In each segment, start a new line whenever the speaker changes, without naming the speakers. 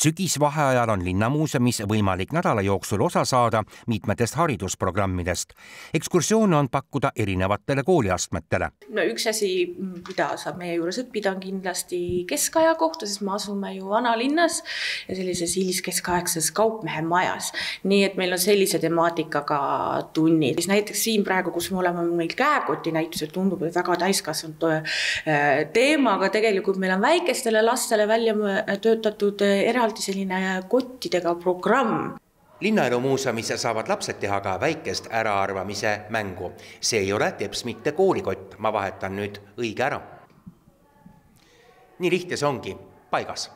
Sügisvaheajal on Linnamuuseumis võimalik nädala jooksul osa saada mitmetest haridusprogrammidest. Ekskursioone on pakkuda erinevatele kooliastmetele.
Üks asi, mida saab meie juures õppida, on kindlasti keskaja kohta, sest me asume ju vanalinnas ja sellises hiliskeskaegses kaupmehe majas. Nii et meil on sellise temaatikaga tunnid. Näiteks siin praegu, kus me oleme meil käekoti näitusel, tundub, et väga täiskasvanud teema, aga tegelikult meil on väikestele lastele välja töötatud eraldi selline kottidega programm.
Linnaelumuuseumis saavad lapsed teha ka väikest äraarvamise mängu. See ei ole teps mitte koolikott, ma vahetan nüüd õige ära. Nii lihtne see ongi, paigas.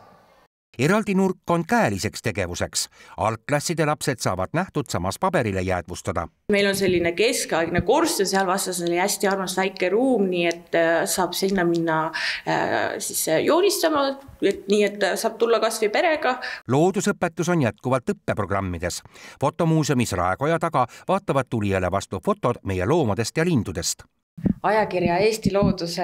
Eraldi nurk on käeliseks tegevuseks. Algklasside lapsed saavad nähtud samas paberile jäädvustada.
Meil on selline keskaegne korst ja seal vastas oli hästi armas väike ruum, nii et saab sinna minna joonistama, nii et saab tulla kas või perega.
Loodusõpetus on jätkuvalt õppeprogrammides. Fotomuuseumis Raekoja taga vaatavad tulijale vastu fotod meie loomadest ja lindudest.
Ajakirja Eesti Looduse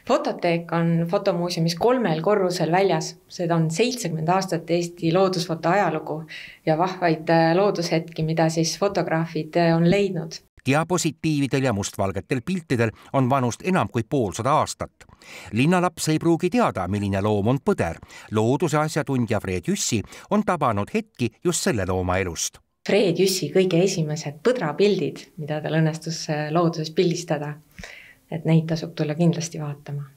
fototeek on fotomuuseumis 3 korrusel väljas. Seda on 70 aastat Eesti loodusfoto ajalugu ja vahvaid loodushetki, mida siis fotograafid on leidnud.
Diapositiividel ja mustvalgetel piltidel on vanust enam kui 500 aastat. Linnalaps ei pruugi teada, milline loom on põder. Looduse asjatundja Fred Jüssi on tabanud hetki just selle looma elust.
Fred Jüssi kõige esimesed põdrapildid, mida tal õnnestus looduses pildistada, et neid tasub tulla kindlasti vaatama.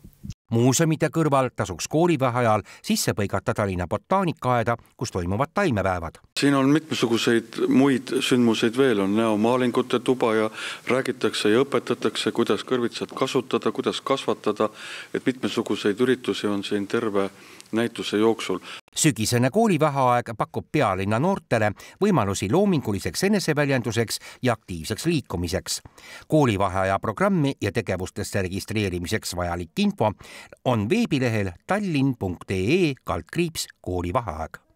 Muuseumide kõrval tasuks koolivaheajal sisse põigata Tallinna botaanikaaeda, kus toimuvad taimepäevad.
Siin on mitmesuguseid muid sündmuseid veel, on näomaalingute tuba ja räägitakse ja õpetatakse, kuidas kõrvitsat kasutada, kuidas kasvatada, et mitmesuguseid üritusi on siin terve näituse jooksul.
Sügisene koolivaheaeg pakub pealinna noortele võimalusi loominguliseks eneseväljenduseks ja aktiivseks liikumiseks. Koolivaheaja programmi ja tegevustesse registreerimiseks vajalik info on veebilehel tallinn.ee/koolivaheaeg.